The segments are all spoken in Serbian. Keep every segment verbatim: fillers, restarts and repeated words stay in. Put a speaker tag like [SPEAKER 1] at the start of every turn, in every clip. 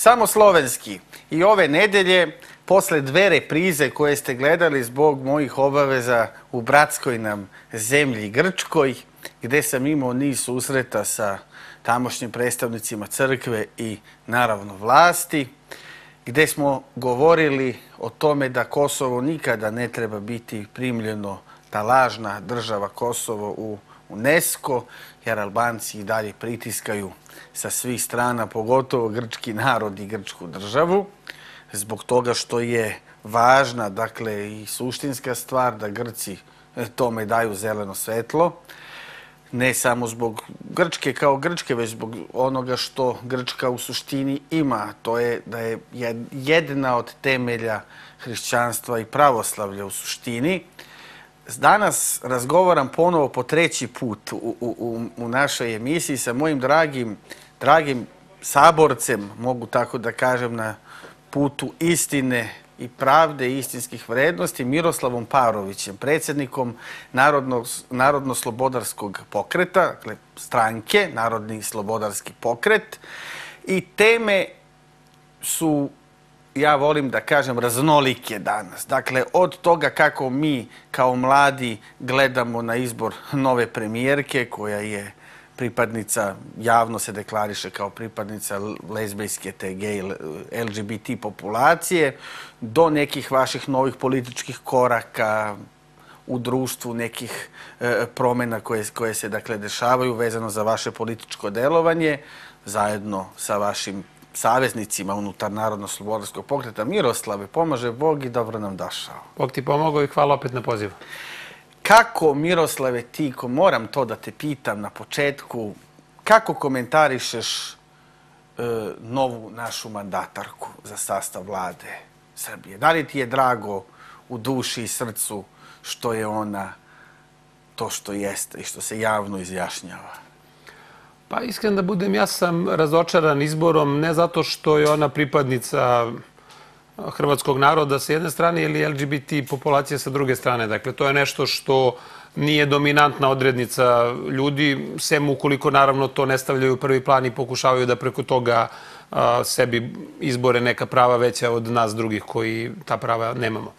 [SPEAKER 1] samo slovenski. I ove nedelje, posle dve reprize koje ste gledali zbog mojih obaveza u bratskoj nam zemlji Grčkoj, gde sam imao niz susreta sa tamošnjim predstavnicima crkve i naravno vlasti, gde smo govorili o tome da Kosovo nikada ne treba biti primljeno, ta lažna država Kosovo u UNESCO, jer Albanci i dalje pritiskaju sa svih strana, pogotovo grčki narod i grčku državu, zbog toga što je važna, dakle, i suštinska stvar da Grci tome daju zeleno svetlo, ne samo zbog Grčke kao Grčke, već zbog onoga što Grčka u suštini ima. To je da je jedna od temelja hrišćanstva i pravoslavlja u suštini. Danas razgovaram ponovo po treći put u, u, u našoj emisiji sa mojim dragim, dragim saborcem, mogu tako da kažem, na putu istine i pravde i istinskih vrednosti, Miroslavom Parovićem, predsjednikom Narodno-slobodarskog pokreta, dakle stranke, Narodni slobodarski pokret. I teme su, ja volim da kažem, raznolike danas. Dakle, od toga kako mi kao mladi gledamo na izbor nove premijerke, koja je pripadnica, javno se deklariše kao pripadnica lezbijske, te gej, L G B T populacije, do nekih vaših novih političkih koraka u društvu, nekih e, promjena koje, koje se dakle dešavaju vezano za vaše političko delovanje, zajedno sa vašim saveznicima unutar Narodno-slobodarskog pokreta. Miroslave, pomaže Bog i dobro nam došao.
[SPEAKER 2] Bog ti pomogao i hvala opet na pozivu.
[SPEAKER 1] Kako, Miroslave, ti, ko moram to da te pitam na početku, kako komentarišeš e, novu našu mandatarku za sastav vlade Srbije? Da li ti je drago u duši i srcu što je ona to što jeste i što se javno izjašnjava?
[SPEAKER 2] Pa iskren da budem, ja sam razočaran izborom, ne zato što je ona pripadnica hrvatskog naroda sa jedne strane ili L G B T populacije sa druge strane. Dakle, to je nešto što nije dominantna odrednica ljudi, sem ukoliko naravno to ne stavljaju u prvi plan i pokušavaju da preko toga a, sebi izbore neka prava veća od nas drugih koji ta prava nemamo.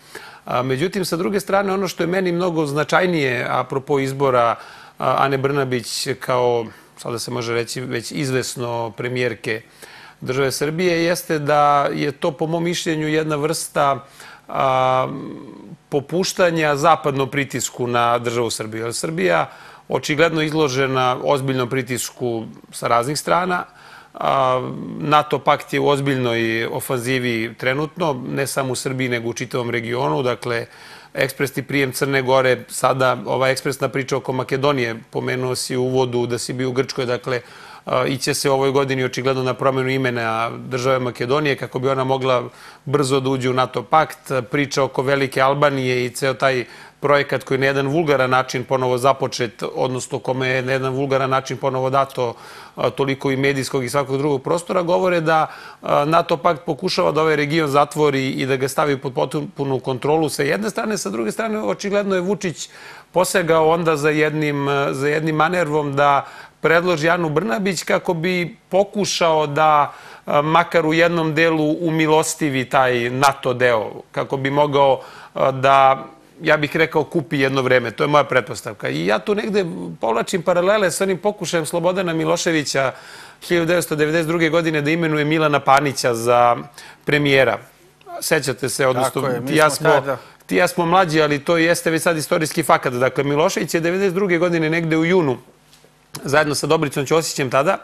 [SPEAKER 2] A, međutim, sa druge strane, ono što je meni mnogo značajnije apropo izbora a, Ane Brnabić kao, sada se može reći, već izvesno premijerke države Srbije, jeste da je to, po mom mišljenju, jedna vrsta a, popuštanja zapadnom pritisku na državu Srbiju. Jer Srbija očigledno izložena ozbiljnom pritisku sa raznih strana. A, NATO pakt je u ozbiljnoj ofanzivi trenutno, ne samo u Srbiji, nego u čitavom regionu. Dakle, ekspresni prijem Crne Gore, sada ova ekspresna priča oko Makedonije, pomenuo si u uvodu da si bio u Grčkoj, dakle, iće se u ovoj godini očigledno na promjenu imena države Makedonije kako bi ona mogla brzo da uđe u NATO pakt. Priča oko Velike Albanije i ceo taj projekat koji je na jedan vulgaran način ponovo započet, odnosno kome je na jedan vulgaran način ponovo dato toliko i medijskog i svakog drugog prostora, govore da NATO pakt pokušava da ovaj region zatvori i da ga stavi pod potpunu kontrolu sa jedne strane. Sa druge strane, očigledno je Vučić posegao onda za jednim, za jednim manervom da predloži Anu Brnabić kako bi pokušao da makar u jednom delu umilostivi taj NATO deo, kako bi mogao da, ja bih rekao, kupi jedno vreme. To je moja pretpostavka. I ja tu negde povlačim paralele sa onim pokušajem Slobodana Miloševića hiljadu devetsto devedeset druge. godine da imenuje Milana Panića za premijera. Sećate se, odnosno ti ja smo... Ti ja smo mlađi, ali to jeste već sad istorijski fakat. Dakle, Milošević je devedeset druge. godine negde u junu, zajedno sa Dobricom Ćosićem tada,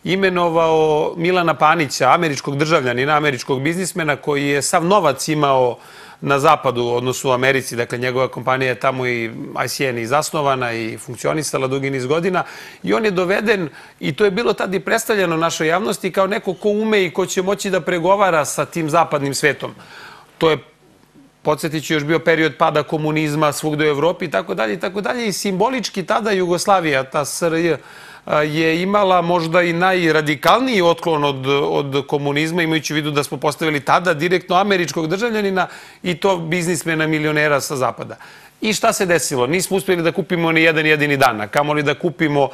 [SPEAKER 2] imenovao Milana Panića, američkog državljanina, američkog biznismena, koji je sav novac imao na zapadu, odnosno u Americi. Dakle, njegova kompanija je tamo i I C N i zasnovana i funkcionisala dugi niz godina. I on je doveden, i to je bilo tad i predstavljeno našoj javnosti, kao neko ko ume i ko će moći da pregovara sa tim zapadnim svetom. To je, podsjetit ću, još bio period pada komunizma svugde u Evropi i tako dalje i tako dalje. I simbolički tada Jugoslavija, ta S R J, je imala možda i najradikalniji otklon od, od komunizma, imajući u vidu da smo postavili tada direktno američkog državljanina i to biznismena, milionera sa zapada. I šta se desilo? Nismo uspjeli da kupimo ni jedan jedini dan, a kamoli da kupimo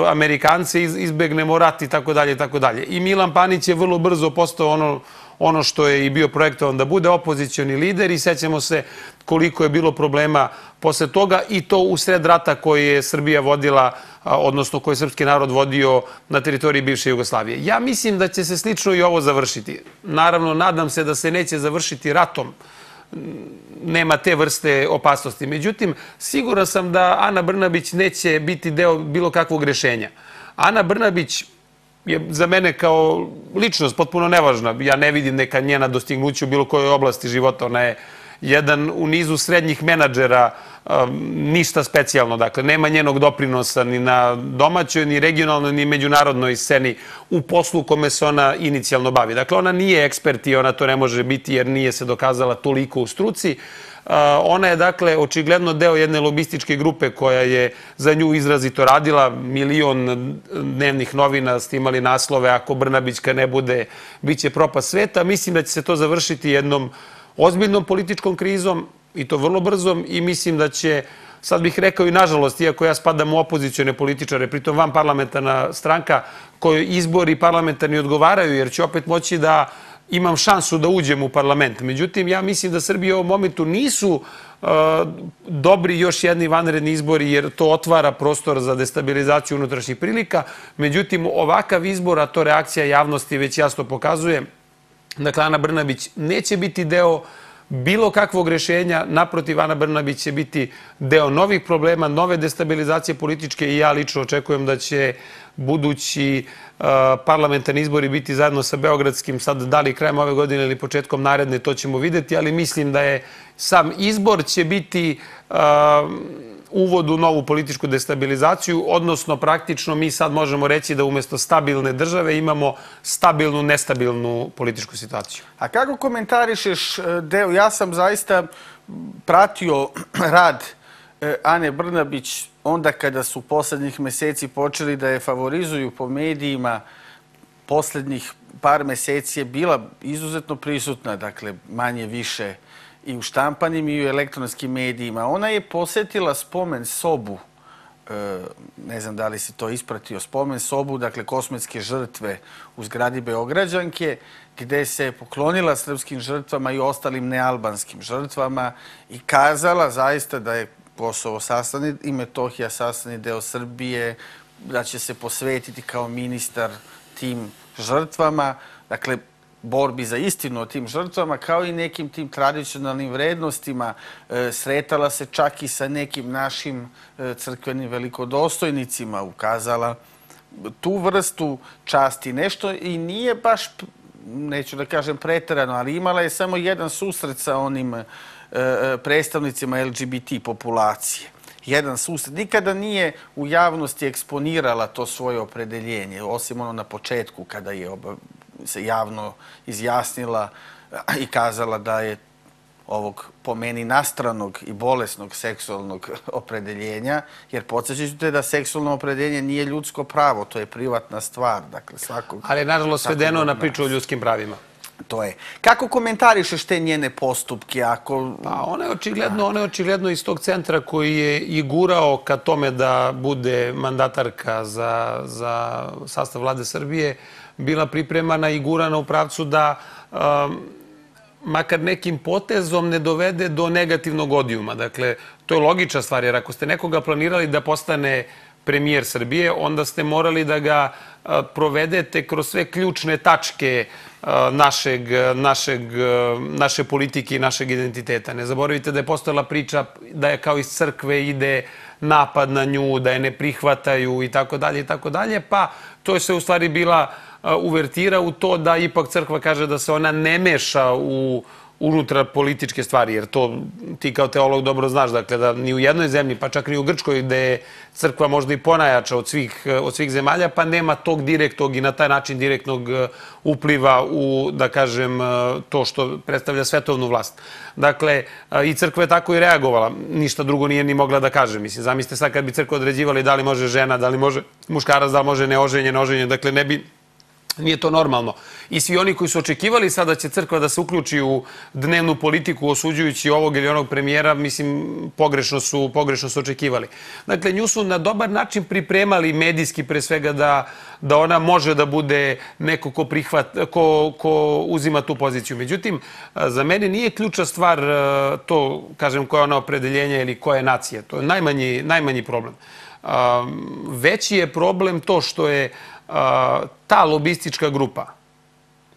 [SPEAKER 2] Amerikance, izbegnemo rat i tako dalje i tako dalje. I Milan Panić je vrlo brzo postao ono ono što je i bio projektovan da bude opozicioni lider i sećamo se koliko je bilo problema posle toga i to u sred rata koji je Srbija vodila, odnosno koji je srpski narod vodio na teritoriji bivše Jugoslavije. Ja mislim da će se slično i ovo završiti. Naravno, nadam se da se neće završiti ratom. Nema te vrste opasnosti. Međutim, siguran sam da Ana Brnabić neće biti deo bilo kakvog rešenja. Ana Brnabić je za mene kao ličnost potpuno nevažna. Ja ne vidim neka njena dostignuća u bilo kojoj oblasti života. Ona je jedan u nizu srednjih menadžera, ništa specijalno. Dakle, nema njenog doprinosa ni na domaćoj, ni regionalnoj, ni međunarodnoj sceni u poslu kome se ona inicijalno bavi. Dakle, ona nije ekspert i ona to ne može biti jer nije se dokazala toliko u struci. Ona je, dakle, očigledno deo jedne lobističke grupe koja je za nju izrazito radila. Milion dnevnih novina ste imali naslove: ako Brnabićka ne bude, bit će propast sveta. Mislim da će se to završiti jednom ozbiljnom političkom krizom i to vrlo brzom i mislim da će, sad bih rekao i nažalost, iako ja spadam u opozicione političare, pritom van parlamentarna stranka kojoj izbori parlamentarni odgovaraju, jer će opet moći da imam šansu da uđem u parlament. Međutim, ja mislim da Srbiji u ovom momentu nisu dobri još jedni vanredni izbori, jer to otvara prostor za destabilizaciju unutrašnjih prilika. Međutim, ovakav izbor, a to reakcija javnosti već jasno pokazuje, dakle, Ana Brnabić neće biti deo bilo kakvog rešenja. Naprotiv, Ana Brnabić će biti deo novih problema, nove destabilizacije političke i ja lično očekujem da će budući parlamentarni izbori biti zajedno sa beogradskim, sad da li krajem ove godine ili početkom naredne, to ćemo videti, ali mislim da je sam izbor će biti uvod u novu političku destabilizaciju, odnosno praktično mi sad možemo reći da umjesto stabilne države imamo stabilnu, nestabilnu političku situaciju.
[SPEAKER 1] A kako komentarišeš deo? Ja sam zaista pratio rad Ane Brnabić onda kada su poslednjih meseci počeli da je favorizuju po medijima. Poslednjih par meseci je bila izuzetno prisutna, dakle manje više i u štampanim i u elektronskim medijima. Ona je posetila spomen sobu, ne znam da li si to ispratio, spomen sobu, dakle kosmetske žrtve u zgradi Beograđanke, gde se poklonila srpskim žrtvama i ostalim nealbanskim žrtvama i kazala zaista da je Kosovo sastavni i Metohija sastavni deo Srbije, da će se posvetiti kao ministar tim žrtvama, dakle borbi za istinu o tim žrtvama, kao i nekim tim tradicionalnim vrednostima. Sretala se čak i sa nekim našim crkvenim velikodostojnicima, ukazala tu vrstu časti. Nešto i nije baš, neću da kažem preterano, ali imala je samo jedan susret sa onim predstavnicima L G B T populacije. Jedan susret. Nikada nije u javnosti eksponirala to svoje opredeljenje, osim ono na početku kada je se javno izjasnila i kazala da je ovog po meni nastranog i bolesnog seksualnog opredeljenja, jer podsjećate da seksualno opredeljenje nije ljudsko pravo, to je privatna stvar. Dakle, svakog...
[SPEAKER 2] Ali je nažalost svedeno na priču o ljudskim pravima.
[SPEAKER 1] To je. Kako komentarišeš te njene postupke? Ako...
[SPEAKER 2] Pa ona je očigledno, ona je očigledno iz tog centra koji je i gurao ka tome da bude mandatarka za, za sastav vlade Srbije, bila pripremana i gurana u pravcu da um, makar nekim potezom ne dovede do negativnog odijuma. Dakle, to je logična stvar, jer ako ste nekoga planirali da postane premijer Srbije, onda ste morali da ga provedete kroz sve ključne tačke našeg, našeg, naše politike i našeg identiteta. Ne zaboravite da je postojala priča da je kao iz crkve ide napad na nju, da je ne prihvataju i tako dalje i tako dalje, pa to je sve u stvari bila uvertira u to da ipak crkva kaže da se ona ne meša u unutra političke stvari, jer to ti kao teolog dobro znaš, dakle da ni u jednoj zemlji, pa čak ni u Grčkoj, gde je crkva možda i ponajača od svih, od svih zemalja, pa nema tog direktnog i na taj način direktnog upliva u, da kažem, to što predstavlja svetovnu vlast. Dakle, i crkva je tako i reagovala. Ništa drugo nije ni mogla da kaže. Mislim, zamislite sad kad bi crkva određivali da li može žena, da li može muškarac, da li može neoženjen, oženjen, dakle ne bi Nije to normalno. I svi oni koji su očekivali sada će crkva da se uključi u dnevnu politiku osuđujući ovog ili onog premijera, mislim, pogrešno su, pogrešno su očekivali. Dakle, nju su na dobar način pripremali medijski pre svega da, da ona može da bude neko ko, prihvat, ko, ko uzima tu poziciju. Međutim, za mene nije ključna stvar to, kažem, koja je ona opredeljenja ili koja je nacija. To je najmanji, najmanji problem. Veći je problem to što je ta lobistička grupa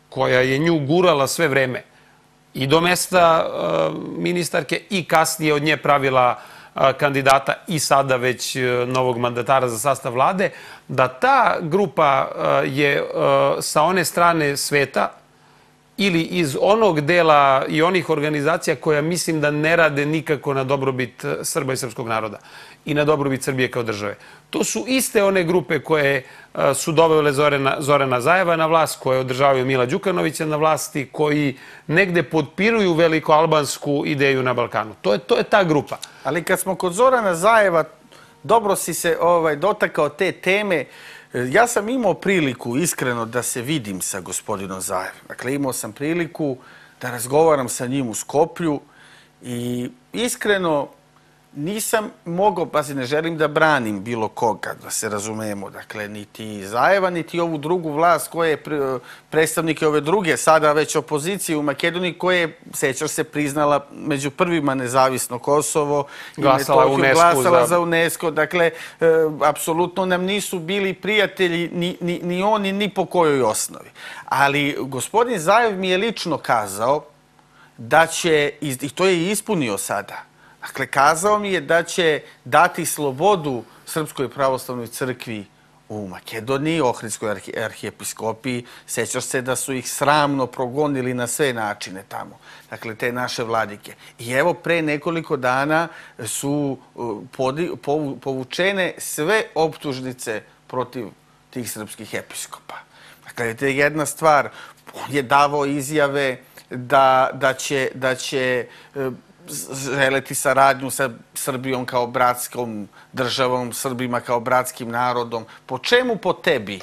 [SPEAKER 2] koja je nju gurala sve vreme i do mesta ministarke i kasnije od nje pravila kandidata i sada već novog mandatara za sastav vlade, da ta grupa je sa one strane sveta ili iz onog dela i onih organizacija koja mislim da ne rade nikako na dobrobit Srba i srpskog naroda i na dobrobit Srbije kao države. To su iste one grupe koje su dovele Zorana, Zorana Zajeva na vlast, koje održavaju Mila Đukanovića na vlasti, koji negde potpiruju velikoalbansku ideju na Balkanu. To je, to je ta grupa.
[SPEAKER 1] Ali kad smo kod Zorana Zajeva, dobro si se ovaj, dotakao te teme. Ja sam imao priliku iskreno da se vidim sa gospodinom Zajevom. Dakle, imao sam priliku da razgovaram sa njim u Skoplju i iskreno nisam mogao, pazi, ne želim da branim bilo koga, da se razumemo, dakle, niti Zajeva, niti ovu drugu vlast koja je predstavnike ove druge, sada već opozicije u Makedoniji, koja je, sećaš se, priznala među prvima nezavisno Kosovo i Metohiju, glasala za UNESCO. Dakle, apsolutno nam nisu bili prijatelji ni, ni, ni oni, ni po kojoj osnovi. Ali gospodin Zajev mi je lično kazao da će, i to je ispunio sada, dakle, kazao mi je da će dati slobodu Srpskoj pravoslavnoj crkvi u Makedoniji, Ohridskoj arhijepiskopiji. Sećaš se da su ih sramno progonili na sve načine tamo. Dakle, te naše vladike. I evo, pre nekoliko dana su povučene sve optužnice protiv tih srpskih episkopa. Dakle, to je jedna stvar. On je davao izjave da, da će, da će želeti saradnju sa Srbijom kao bratskom državom, Srbima kao bratskim narodom. Po čemu po tebi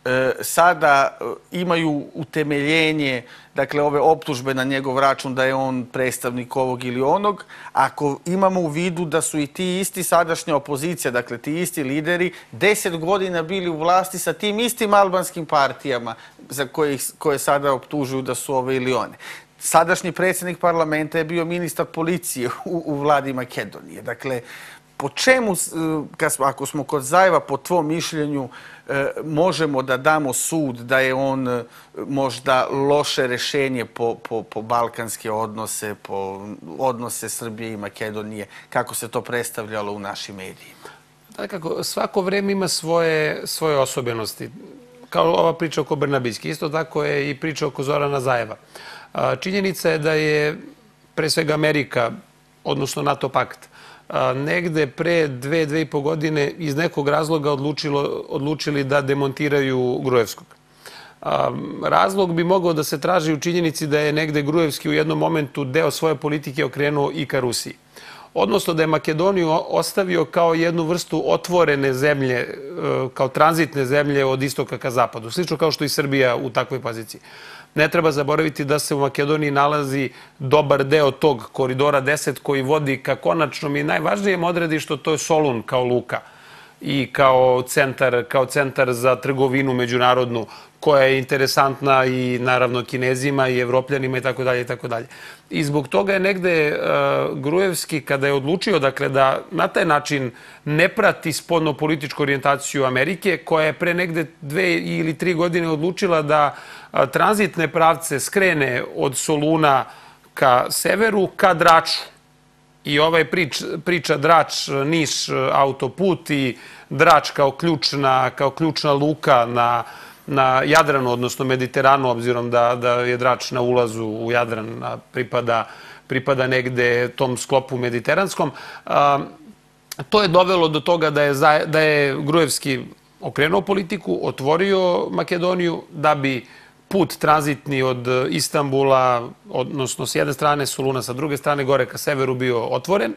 [SPEAKER 1] e, sada imaju utemeljenje, dakle, ove optužbe na njegov račun da je on predstavnik ovog ili onog, ako imamo u vidu da su i ti isti sadašnja opozicija, dakle, ti isti lideri, deset godina bili u vlasti sa tim istim albanskim partijama za koje, koje sada optužuju da su ove ili one. Sadašnji predsjednik parlamenta je bio ministar policije u, u vladi Makedonije. Dakle, po čemu, ako smo kod Zajeva, po tvom mišljenju, možemo da damo sud da je on možda loše rešenje po, po, po balkanske odnose, po odnose Srbije i Makedonije, kako se to predstavljalo u našim medijima?
[SPEAKER 2] Dakle, svako vreme ima svoje, svoje osobenosti. Kao ova priča oko Brnabićke. Isto tako je i priča oko Zorana Zajeva. Činjenica je da je pre svega Amerika, odnosno NATO pakt, negde pre dve, dve i po godine iz nekog razloga odlučilo, odlučili da demontiraju Gruevskog. Razlog bi mogao da se traži u činjenici da je negde Gruevski u jednom momentu deo svoje politike okrenuo i ka Rusiji. Odnosno da je Makedoniju ostavio kao jednu vrstu otvorene zemlje, kao tranzitne zemlje od istoka ka zapadu. Slično kao što i Srbija u takvoj poziciji. Ne treba zaboraviti da se u Makedoniji nalazi dobar deo tog koridora deset koji vodi ka konačnom i najvažnijem odredištu, to je Solun kao luka i kao centar, kao centar za trgovinu međunarodnu koja je interesantna i naravno Kinezima i Evropljanima i tako dalje i tako dalje. I zbog toga je negde uh, Gruevski, kada je odlučio, dakle, da na taj način ne prati spoljno-političku orijentaciju Amerike, koja je pre negde dve ili tri godine odlučila da uh, tranzitne pravce skrene od Soluna ka severu, ka Draču. I ovaj prič, priča Drač, Niš, autoput i Drač kao ključna, kao ključna luka na na Jadranu, odnosno Mediteranu, obzirom da, da je Drač na ulazu u Jadran, a pripada, pripada negde tom sklopu mediteranskom. A, to je dovelo do toga da je, da je Gruevski okrenuo politiku, otvorio Makedoniju, da bi put tranzitni od Istanbula, odnosno s jedne strane Soluna, sa druge strane gore ka severu bio otvoren.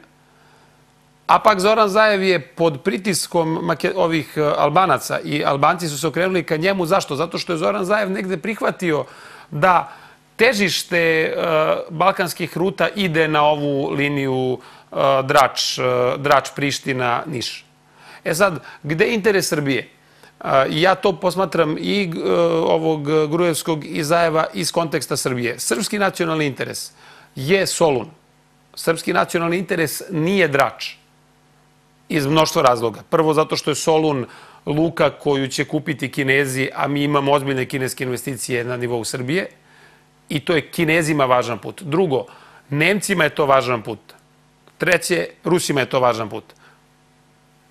[SPEAKER 2] A pak Zoran Zaev je pod pritiskom ovih Albanaca i Albanci su se okrenuli ka njemu. Zašto? Zato što je Zoran Zaev negde prihvatio da težište balkanskih ruta ide na ovu liniju Drač-Priština-Niš. E sad, gde je interes Srbije? Ja to posmatram i ovog Gruevskog i Zaeva iz konteksta Srbije. Srpski nacionalni interes je Solun. Srpski nacionalni interes nije Drač. Iz mnoštva razloga. Prvo, zato što je Solun luka koju će kupiti Kinezi, a mi imamo ozbiljne kineske investicije na nivou Srbije. I to je Kinezima važan put. Drugo, Nemcima je to važan put. Treće, Rusima je to važan put.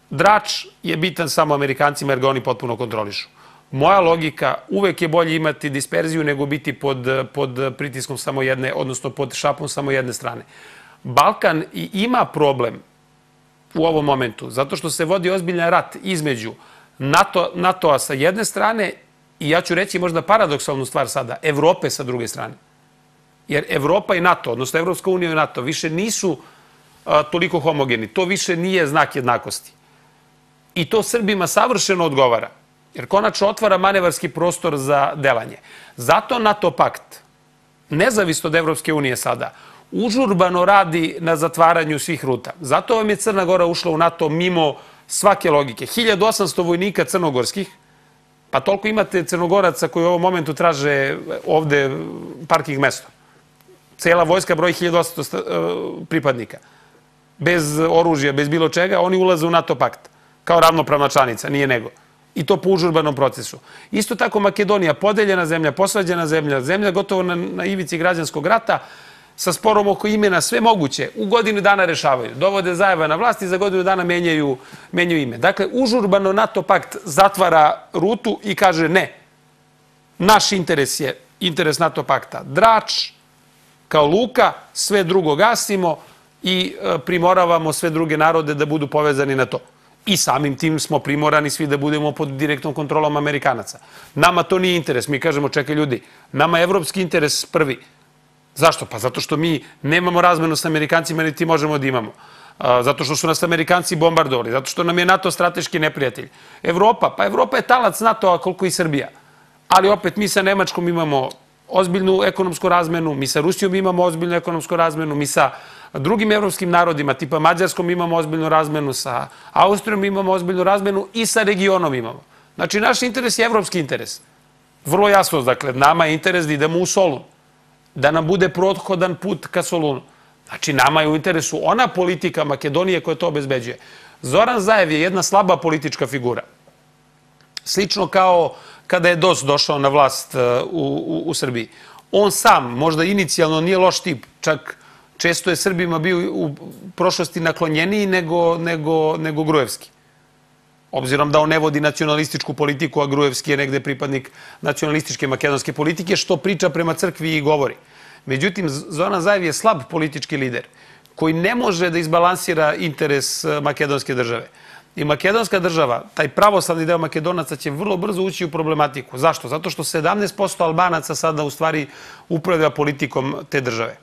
[SPEAKER 2] Drač je bitan samo Amerikancima jer ga oni potpuno kontrolišu. Moja logika, uvek je bolje imati disperziju nego biti pod, pod pritiskom samo jedne, odnosno pod šapom samo jedne strane. Balkan i ima problem u ovom momentu, zato što se vodi ozbiljan rat između NATO, NATO-a sa jedne strane i ja ću reći možda paradoksalnu stvar sada, Evrope sa druge strane. Jer Evropa i NATO, odnosno Evropska unija i NATO, više nisu a, toliko homogeni. To više nije znak jednakosti. I to Srbima savršeno odgovara. Jer konačno otvara manevarski prostor za delanje. Zato NATO pakt, nezavisno od Evropske unije sada, užurbano radi na zatvaranju svih ruta. Zato vam je Crna Gora ušla u NATO mimo svake logike. hiljadu osamsto vojnika crnogorskih, pa toliko imate Crnogoraca koji u ovom momentu traže ovde parking mesto. Cela vojska broji hiljadu osamsto pripadnika. Bez oružja, bez bilo čega, oni ulaze u NATO pakt. Kao ravnopravna članica, nije nego. I to po užurbanom procesu. Isto tako Makedonija, podeljena zemlja, posvađena zemlja, zemlja gotovo na, na ivici građanskog rata, sa sporom oko imena, sve moguće, u godinu dana rešavaju. Dovode Zaeva na vlast i za godinu dana menjaju, menjaju ime. Dakle, užurbano NATO pakt zatvara rutu i kaže ne. Naš interes je interes NATO pakta Drač, kao luka, sve drugo gasimo i primoravamo sve druge narode da budu povezani na to. I samim tim smo primorani svi da budemo pod direktnom kontrolom Amerikanaca. Nama to nije interes. Mi kažemo, čekaj ljudi, nama je evropski interes prvi. Zašto? Pa zato što mi nemamo razmenu s Amerikancima, niti možemo da imamo. Zato što su nas Amerikanci bombardovali, zato što nam je NATO strateški neprijatelj. Evropa, pa Evropa je talac NATO-a koliko i Srbija. Ali opet mi sa Nemačkom imamo ozbiljnu ekonomsku razmenu, mi sa Rusijom imamo ozbiljnu ekonomsku razmenu, mi sa drugim evropskim narodima, tipa Mađarskom imamo ozbiljnu razmenu, sa Austrijom imamo ozbiljnu razmenu i sa regionom imamo. Znači, naš interes je evropski interes. Vrlo jasno, dakle, nama je interes da idemo u Solun, da nam bude prothodan put ka Solunu. Znači, nama je u interesu ona politika Makedonije koja to obezbeđuje. Zoran Zaev je jedna slaba politička figura. Slično kao kada je D O S došao na vlast u, u, u Srbiji. On sam, možda inicijalno, nije loš tip, čak često je Srbima bio u prošlosti naklonjeniji nego, nego, nego Gruevski. Obzirom da on ne vodi nacionalističku politiku, a Gruevski je negde pripadnik nacionalističke makedonske politike, što priča prema crkvi i govori. Međutim, Zoran Zaev je slab politički lider koji ne može da izbalansira interes makedonske države. I makedonska država, taj pravoslavni deo Makedonaca će vrlo brzo ući u problematiku. Zašto? Zato što sedamnaest posto Albanaca sada u stvari upravlja politikom te države.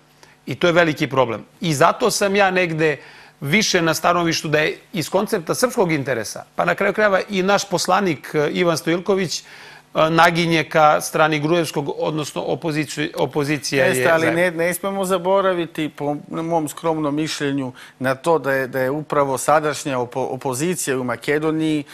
[SPEAKER 2] I to je veliki problem. I zato sam ja negde više na stanovištu da je iz koncepta srpskog interesa, pa na kraju krajeva i naš poslanik Ivan Stojilković naginje ka strani Gruevskog, odnosno opozicija je...
[SPEAKER 1] Jeste, ali ne, ne smemo zaboraviti, po mom skromnom mišljenju, na to da je, da je upravo sadašnja opo, opozicija u Makedoniji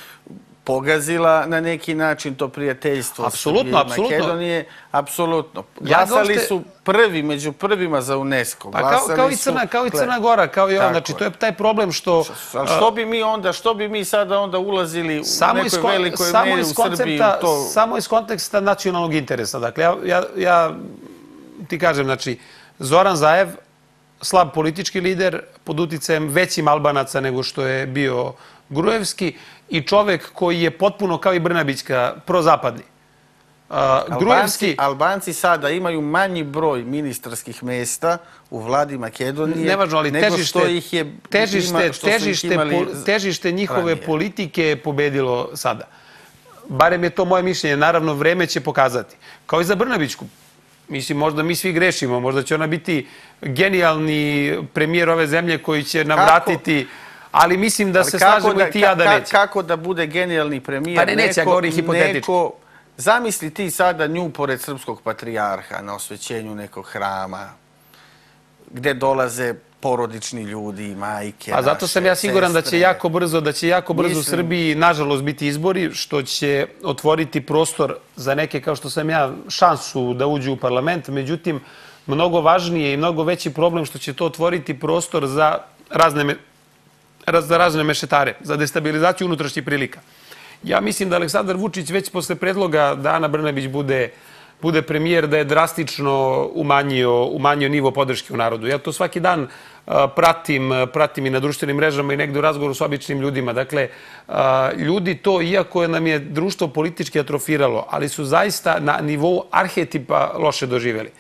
[SPEAKER 1] pogazila na neki način to prijateljstvo.
[SPEAKER 2] Apsolutno, apsolutno.
[SPEAKER 1] Makedonije, apsolutno. Glasali ja su prvi, među prvima za UNESCO.
[SPEAKER 2] Pa kao, kao, i Crna, kao i Crna Gora, kao i on. Znači, to je taj problem što...
[SPEAKER 1] Ali što bi mi onda, što bi mi sada onda ulazili u nekoj kon, velikoj meri u Srbiji? To...
[SPEAKER 2] Samo iz konteksta nacionalnog interesa. Dakle, ja, ja, ja ti kažem, znači, Zoran Zaev, slab politički lider, pod uticajem većim Albanaca nego što je bio Gruevski i čovek koji je potpuno kao i Brnabićka prozapadni. Uh,
[SPEAKER 1] Albanci,
[SPEAKER 2] Gruevski...
[SPEAKER 1] Albanci sada imaju manji broj ministarskih mesta u vladi Makedonije
[SPEAKER 2] Nevažno, ali
[SPEAKER 1] nego
[SPEAKER 2] težište,
[SPEAKER 1] što ih je
[SPEAKER 2] težište,
[SPEAKER 1] ima, što
[SPEAKER 2] težište,
[SPEAKER 1] ih imali
[SPEAKER 2] po, težište njihove
[SPEAKER 1] ranije.
[SPEAKER 2] politike je pobedilo sada. Barem je to moje mišljenje. Naravno, vreme će pokazati. Kao i za Brnabićku. Mislim, možda mi svi grešimo. Možda će ona biti genijalni premijer ove zemlje koji će nam
[SPEAKER 1] Kako?
[SPEAKER 2] vratiti Ali mislim da se slažemo i ti ja da neće.
[SPEAKER 1] Kako da bude genijalni premijer?
[SPEAKER 2] Pa ne, neće, ja govorim hipotetički.
[SPEAKER 1] Zamisli ti sada nju pored srpskog patrijarha na osvećenju nekog hrama, gde dolaze porodični ljudi, majke,
[SPEAKER 2] A zato sam ja siguran da će jako brzo, da će jako brzo u Srbiji, nažalost, biti izbori, što će otvoriti prostor za neke, kao što sam ja, šansu da uđu u parlament. Međutim, mnogo važnije i mnogo veći problem što će to otvoriti prostor za razne, za razne mešetare, za destabilizaciju unutrašnjih prilika. Ja mislim da Aleksandar Vučić već posle predloga da Ana Brnabić bude bude premijer, da je drastično umanjio, umanjio nivo podrške u narodu. Ja to svaki dan pratim, pratim i na društvenim mrežama i negde u razgovoru s običnim ljudima. Dakle, ljudi to, iako nam je društvo politički atrofiralo, ali su zaista na nivou arhetipa loše doživjeli.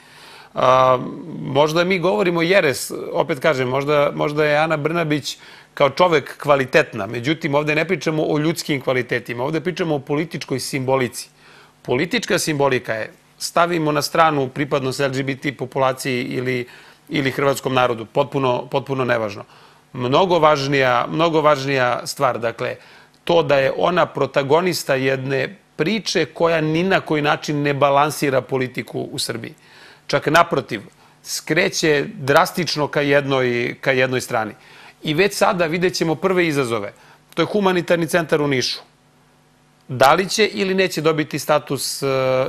[SPEAKER 2] Možda mi govorimo jeres, opet kažem, možda, možda je Ana Brnabić kao čovek kvalitetna. Međutim, ovde ne pričamo o ljudskim kvalitetima, ovde pričamo o političkoj simbolici. Politička simbolika je, stavimo na stranu pripadnost L G B T populaciji ili, ili hrvatskom narodu, potpuno, potpuno nevažno. Mnogo važnija, mnogo važnija stvar, dakle, to da je ona protagonista jedne priče koja ni na koji način ne balansira politiku u Srbiji. Čak naprotiv, skreće drastično ka jednoj, ka jednoj strani. I već sada vidjet ćemo prve izazove. To je humanitarni centar u Nišu. Da li će ili neće dobiti status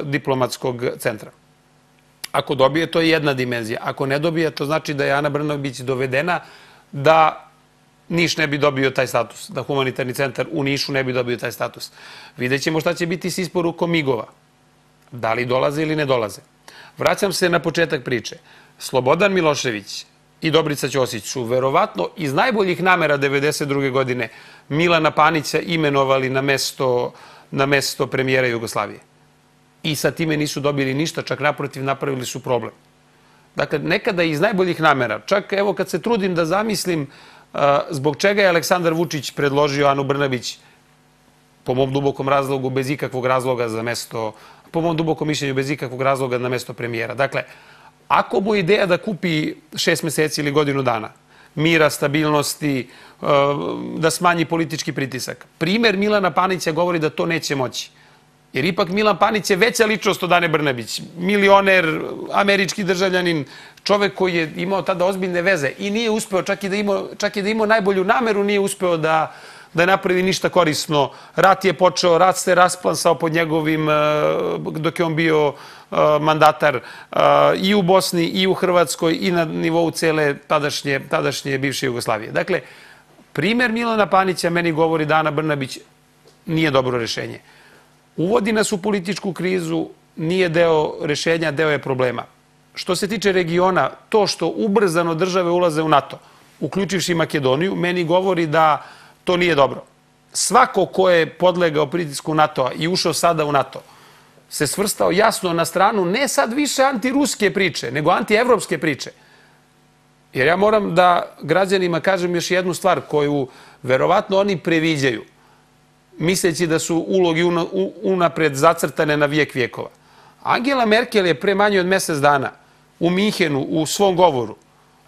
[SPEAKER 2] diplomatskog centra? Ako dobije, to je jedna dimenzija. Ako ne dobije, to znači da je Ana Brnabić dovedena da Niš ne bi dobio taj status, da humanitarni centar u Nišu ne bi dobio taj status. Vidjet ćemo šta će biti s isporukom migova. Da li dolaze ili ne dolaze. Vraćam se na početak priče. Slobodan Milošević i Dobrica Ćosić su verovatno iz najboljih namera devedeset druge godine Milana Panića imenovali na mesto, na mesto premijera Jugoslavije. I sa time nisu dobili ništa, čak naprotiv napravili su problem. Dakle, nekada iz najboljih namera, čak evo kad se trudim da zamislim uh, zbog čega je Aleksandar Vučić predložio Anu Brnabić, po mom dubokom razlogu, bez ikakvog razloga za mesto, po mom dubokom mišljenju, bez ikakvog razloga na mesto premijera. Dakle, ako mu je ideja da kupi šest meseci ili godinu dana, mira, stabilnosti, da smanji politički pritisak. Primer Milana Panića govori da to neće moći. Jer ipak Milan Panić je veća ličnost od Ane Brnabić. Milioner, američki državljanin, čovek koji je imao tada ozbiljne veze i nije uspeo, čak i da imao, čak i da imao najbolju nameru, nije uspeo da da ne napravi ništa korisno. Rat je počeo, rat se rasplansao pod njegovim, dok je on bio mandatar i u Bosni, i u Hrvatskoj, i na nivou cele tadašnje, tadašnje bivše Jugoslavije. Dakle, primer Milana Panića meni govori da Ana Brnabić nije dobro rešenje. Uvodi nas u političku krizu, nije deo rešenja, deo je problema. Što se tiče regiona, to što ubrzano države ulaze u NATO, uključivši Makedoniju, meni govori da to nije dobro. Svako ko je podlegao pritisku NATO-a i ušao sada u NATO se svrstao jasno na stranu ne sad više antiruske priče, nego antievropske priče. Jer ja moram da građanima kažem još jednu stvar koju verovatno oni previđaju, misleći da su ulogi unapred zacrtane na vijek vijekova. Angela Merkel je pre manje od mesec dana u Minhenu u svom govoru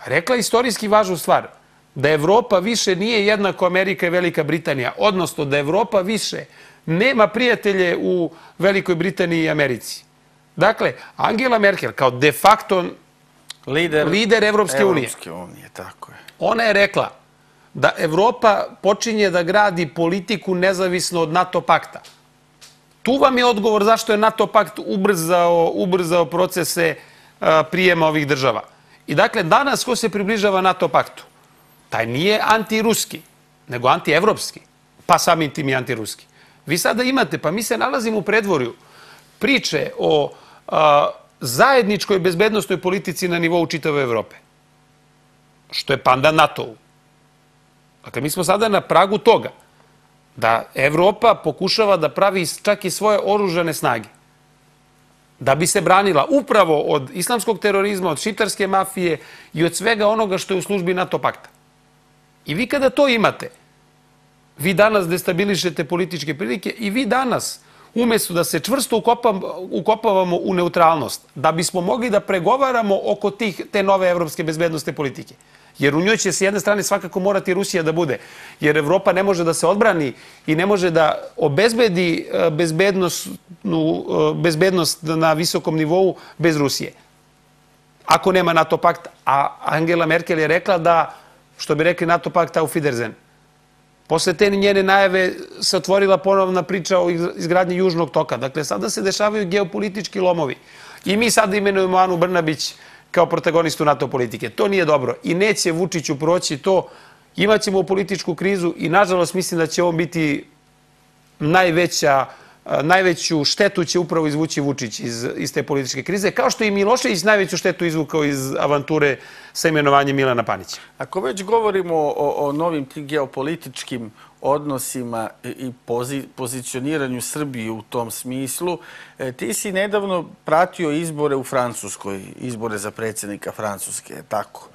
[SPEAKER 2] rekla istorijski važnu stvar, da Evropa više nije jednako Amerika i Velika Britanija, odnosno da Evropa više nema prijatelje u Velikoj Britaniji i Americi. Dakle, Angela Merkel kao de facto lider, lider Evropske unije,
[SPEAKER 1] unije tako je.
[SPEAKER 2] Ona je rekla da Evropa počinje da gradi politiku nezavisno od NATO pakta. Tu vam je odgovor zašto je NATO pakt ubrzao, ubrzao procese a, prijema ovih država. I dakle, danas ko se približava NATO paktu? Taj nije antiruski, nego antievropski, pa samim tim i antiruski. Vi sada imate, pa mi se nalazimo u predvorju priče o a, zajedničkoj bezbednostnoj politici na nivou čitave Evrope, što je pandan NATO-u. Dakle, mi smo sada na pragu toga da Evropa pokušava da pravi čak i svoje oružane snage, da bi se branila upravo od islamskog terorizma, od šiptarske mafije i od svega onoga što je u službi NATO pakta. I vi kada to imate, vi danas destabilišete političke prilike i vi danas, umjesto da se čvrsto ukopavamo u neutralnost, da bismo mogli da pregovaramo oko tih, te nove evropske bezbednostne politike, Jer u njoj će s jedne strane svakako morati Rusija da bude. Jer Evropa ne može da se odbrani i ne može da obezbedi bezbednost na visokom nivou bez Rusije. Ako nema NATO pakta. A Angela Merkel je rekla da, što bi rekli, NATO pakt auf Wiedersehen. Posle te njene najave se otvorila ponovna priča o izgradnji Južnog toka. Dakle, sada se dešavaju geopolitički lomovi. I mi sada imenujemo Anu Brnabić kao protagonistu NATO politike. To nije dobro. I neće Vučiću proći to. Imaćemo političku krizu i, nažalost, mislim da će on biti najveća, najveću štetu će upravo izvući Vučić iz, iz te političke krize, kao što i Milošević najveću štetu izvukao iz avanture sa imenovanjem Milana Panića.
[SPEAKER 1] Ako već govorimo o, o novim tim geopolitičkim odnosima i pozi, pozicioniranju Srbije u tom smislu, ti si nedavno pratio izbore u Francuskoj, izbore za predsjednika Francuske, tako?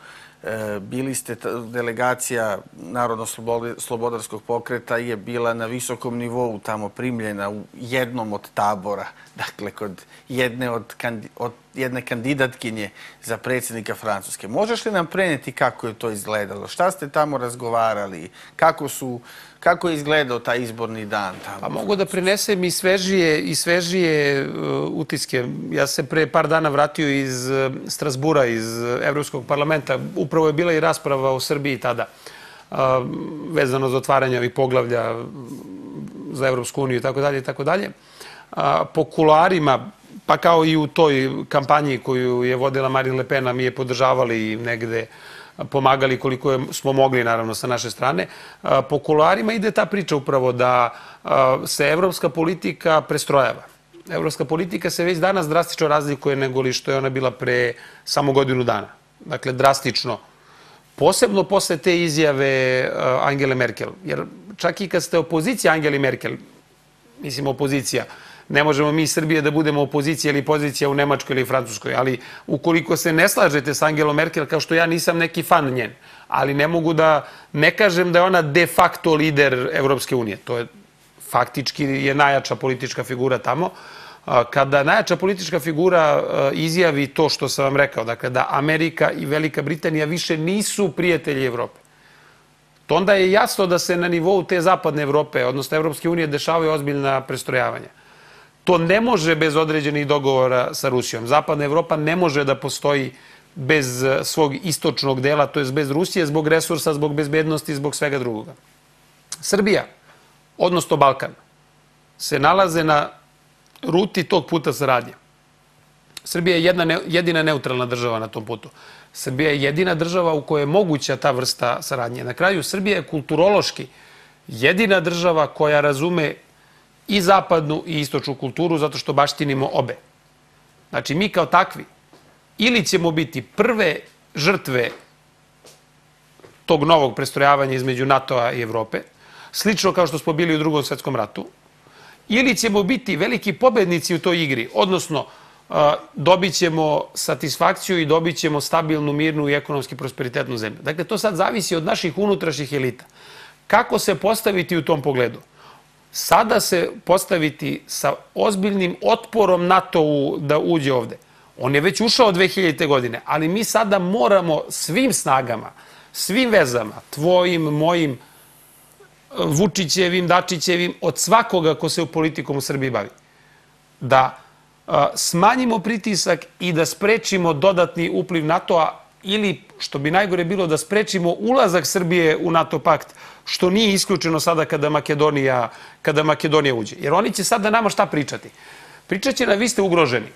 [SPEAKER 1] Bili ste, delegacija Narodno-slobodarskog pokreta je bila na visokom nivou tamo primljena u jednom od tabora, dakle kod jedne, od, od jedne kandidatkinje za predsjednika Francuske. Možeš li nam prenijeti kako je to izgledalo? Šta ste tamo razgovarali? Kako su, kako je izgledao taj izborni dan tamo?
[SPEAKER 2] Pa mogu da prenesem i svežije, i svežije uh, utiske. Ja se pre par dana vratio iz uh, Strasbura, iz uh, Evropskog parlamenta. Upravo je bila i rasprava o Srbiji tada, uh, vezano za otvaranje ovih poglavlja za Evropsku uniju i tako dalje i tako dalje. Po kuloarima, pa kao i u toj kampanji koju je vodila Marine Le Pen, mi je podržavali i negde pomagali koliko smo mogli, naravno, sa naše strane. Po kuloarima ide ta priča upravo da se evropska politika prestrojava. Evropska politika se već danas drastično razlikuje nego li što je ona bila pre samo godinu dana. Dakle, drastično. Posebno posle te izjave Angele Merkel. Jer čak i kad ste opozicija Angeli Merkel, mislim opozicija, ne možemo mi iz Srbije da budemo opozicija ili pozicija u Nemačkoj ili Francuskoj, ali ukoliko se ne slažete s Angelom Merkel, kao što ja nisam neki fan njen, ali ne mogu da ne kažem da je ona de facto lider Evropske unije. To je faktički je najjača politička figura tamo. Kada najjača politička figura izjavi to što sam vam rekao, dakle da Amerika i Velika Britanija više nisu prijatelji Evrope, to onda je jasno da se na nivou te zapadne Evrope, odnosno Evropske unije, dešavaju ozbiljna prestrojavanja. To ne može bez određenih dogovora sa Rusijom. Zapadna Evropa ne može da postoji bez svog istočnog dela, to je bez Rusije, zbog resursa, zbog bezbednosti, zbog svega drugoga. Srbija, odnosno Balkan, se nalaze na ruti tog puta saradnje. Srbija je jedna, jedina neutralna država na tom putu. Srbija je jedina država u kojoj je moguća ta vrsta saradnje. Na kraju, Srbija je kulturološki jedina država koja razume i zapadnu i istočnu kulturu, zato što baštinimo obe. Znači, mi kao takvi ili ćemo biti prve žrtve tog novog prestrojavanja između NATO-a i Evrope, slično kao što smo bili u Drugom svetskom ratu, ili ćemo biti veliki pobednici u toj igri, odnosno dobit ćemo satisfakciju i dobit ćemo stabilnu, mirnu i ekonomski prosperitetnu zemlju. Dakle, to sad zavisi od naših unutrašnjih elita. Kako se postaviti u tom pogledu? Sada se postaviti sa ozbiljnim otporom NATO-u da uđe ovde. On je već ušao dve hiljadite. godine, ali mi sada moramo svim snagama, svim vezama, tvojim, mojim, Vučićevim, Dačićevim, od svakoga ko se u politikom u Srbiji bavi, da smanjimo pritisak i da sprečimo dodatni upliv NATO-a ili, što bi najgore bilo, da sprečimo ulazak Srbije u NATO pakt, što nije isključeno sada kada Makedonija, kada Makedonija uđe. Jer oni će sada nama šta pričati? Pričat će nam, vi ste ugroženi.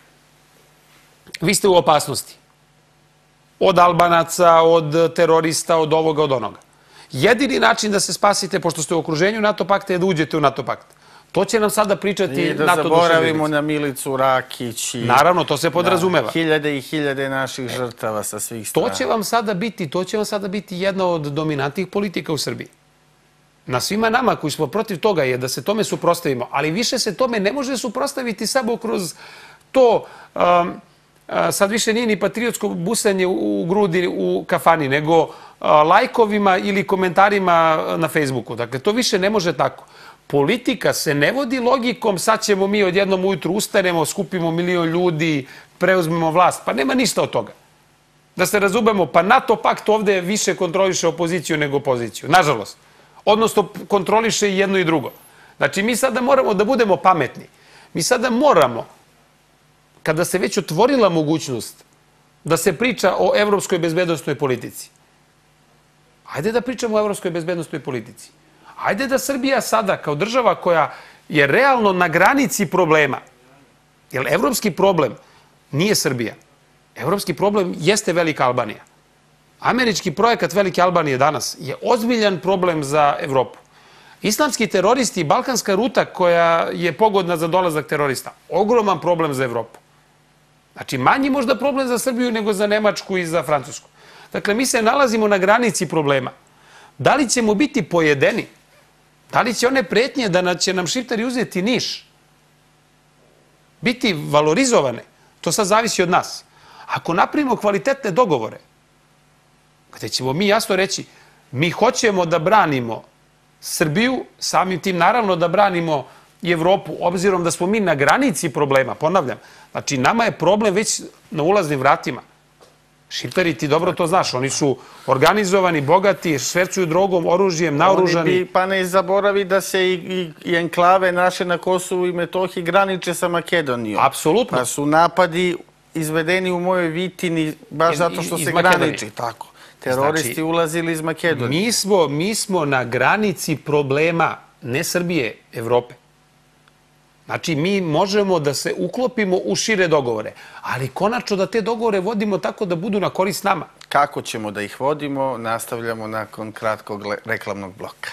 [SPEAKER 2] Vi ste u opasnosti. Od Albanaca, od terorista, od ovoga, od onoga. Jedini način da se spasite, pošto ste u okruženju NATO pakta, je da uđete u NATO pakt. To će nam sada pričati NATO duševljenici.
[SPEAKER 1] I da zaboravimo na Milicu Rakić.
[SPEAKER 2] Naravno, to se podrazumeva.
[SPEAKER 1] Hiljade i hiljade naših žrtava sa svih strana.
[SPEAKER 2] To će vam sada biti, to će vam sada biti jedna od dominantnih politika u Srbiji. Na svima nama koji smo protiv toga je da se tome suprotstavimo, ali više se tome ne može suprotstaviti samo kroz to, um, sad više nije ni patriotsko busanje u grudi u kafani, nego lajkovima ili komentarima na Facebooku. Dakle, to više ne može tako. Politika se ne vodi logikom, sad ćemo mi odjednom ujutru ustanemo, skupimo milion ljudi, preuzmemo vlast. Pa nema ništa od toga. Da se razumemo, pa NATO pakt ovde više kontroliše opoziciju nego poziciju, nažalost. Odnosno, kontroliše i jedno i drugo. Znači, mi sada moramo da budemo pametni. Mi sada moramo, kada se već otvorila mogućnost da se priča o evropskoj bezbednosnoj politici, ajde da pričamo o evropskoj bezbednosnoj politici. Ajde da Srbija sada, kao država koja je realno na granici problema, jer evropski problem nije Srbija. Evropski problem jeste Velika Albanija. Američki projekat Velike Albanije danas je ozbiljan problem za Evropu. Islamski teroristi i balkanska ruta koja je pogodna za dolazak terorista, ogroman problem za Evropu. Znači, manji možda problem za Srbiju nego za Nemačku i za Francusku. Dakle, mi se nalazimo na granici problema. Da li ćemo biti pojedeni? Da li će one pretnje da će nam Šiptari uzeti Niš biti valorizovane? To sad zavisi od nas. Ako napravimo kvalitetne dogovore, gde ćemo mi jasno reći, mi hoćemo da branimo Srbiju, samim tim naravno da branimo i Evropu, obzirom da smo mi na granici problema, ponavljam. Znači, nama je problem već na ulaznim vratima. Šiptari, ti dobro to znaš, oni su organizovani, bogati, švercuju drogom, oružjem, naoružani.
[SPEAKER 1] Oni bi, pa ne zaboravi da se i, i, i enklave naše na Kosovu i Metohiji graniče sa Makedonijom.
[SPEAKER 2] Apsolutno.
[SPEAKER 1] Pa su napadi izvedeni u mojoj Vitini baš zato što se graniči. Tako. Teroristi znači, ulazili iz Makedonije.
[SPEAKER 2] Mi smo, mi smo na granici problema, ne Srbije, Evrope. Znači, mi možemo da se uklopimo u šire dogovore, ali konačno da te dogovore vodimo tako da budu na korist nama.
[SPEAKER 1] Kako ćemo da ih vodimo, nastavljamo nakon kratkog reklamnog bloka.